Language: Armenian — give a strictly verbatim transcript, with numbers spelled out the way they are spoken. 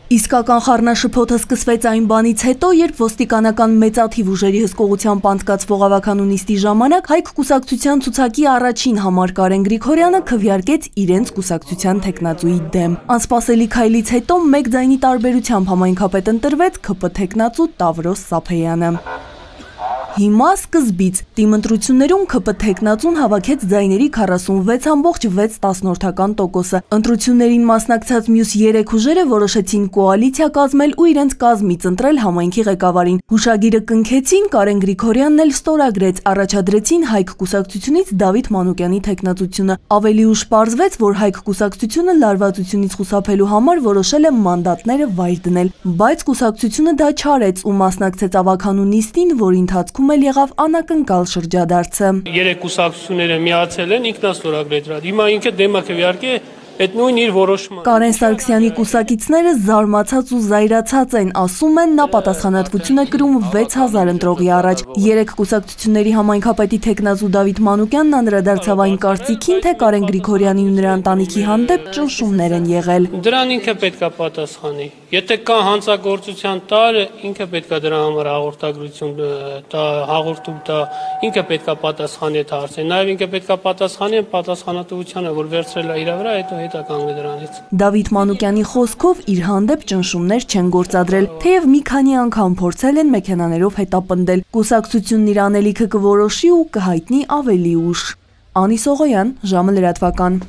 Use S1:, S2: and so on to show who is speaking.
S1: Իսկական խառնաշփոթը սկսվեց այն բանից հետո, երբ ոստիկանական մեծաթիվ ուժերի հսկողությամբ անցկացվող ավականու նիստի ժամանակ Հայք կուսակցության ցուցակի առաջին համար Կարեն Գրիգորյանը քվեարկեց իրենց կուսակցության թեկնածուի դեմ։ Անսպասելի քայլից հետո մեկ ձայնի տարբերությամբ համայնքապետ ընտրվեց K P թեկնածու Տավրոս Սափեյանը։ Հիմա սկզբից թիմ ընտրություններում K P թեկնածուն հավաքեց ձայների քառասունվեց կόμμα վեց տասնորդական տոկոսը։ Ընտրություններին մասնակցած մյուս երեք ուժերը որոշեցին կոալիցիա կազմել ու իրենց կազմից ընտրել համայնքի ղեկավարին։ Հուշագիրը կնքեցին, Կարեն Գրիգորյանն էլ ստորագրեց, առաջադրեցին Հայք կուսակցությունից Դավիթ Մանուկյանի թեկնածությունը։ Ավելի ուշ պարզվեց, որ Հայք կուսակցությունը լարվածությունից խուսափելու համար որոշել է մանդատները վայր դնել, բայց կուսակցությունը դա չարեց ու մասնակցեց ավականու նիստին, որի ընթացքում էլ եղավ անակնկալ շրջադարձը։
S2: Երեք կուսակցությունները միացել են, ինքնաստորագրել։ Հիմա ինքը դեմ է քվեարկե այդ նույն իր որոշումը։
S1: Կարեն Սարգսյանի կուսակիցները զարմացած ու զայրացած են, ասում են, նա պատասխանատվություն է կրում վեց հազար ընտրողի առաջ։ Երեք կուսակցությունների համայնքապետի թեկնածու Դավիթ Մանուկյանն անդրադարձավ այն կարծիքին, թե Կարեն Գրիգորյանի ու նրա ընտանիքի հանդեպ ճնշումներ են եղել։
S2: Դրան ինքը պետք է պատասխանի։ Եթե կա հանցագործության տար, ինքը պետք է դրա համար հաղորդագրություն տա, հաղորդում տա, ինքը պետք է պատասխանի այդ հարցին։ Նաև ինքը պետք է պատասխանի պատասխանատվությանը, որ վերցրել է իր վրա, հետո հետա կանգնի դրանից։
S1: Դավիթ Մանուկյանի խոսքով իր հանդեպ ճնշումներ չեն գործադրել, թեև մի քանի անգամ փորձել են մեքենաներով հետապնդել։ Կուսակցությունն իր անելիքը կորոշի ու կհայտնի ավելի ուշ։ Անի Սողոյան, ժամը լրատվական։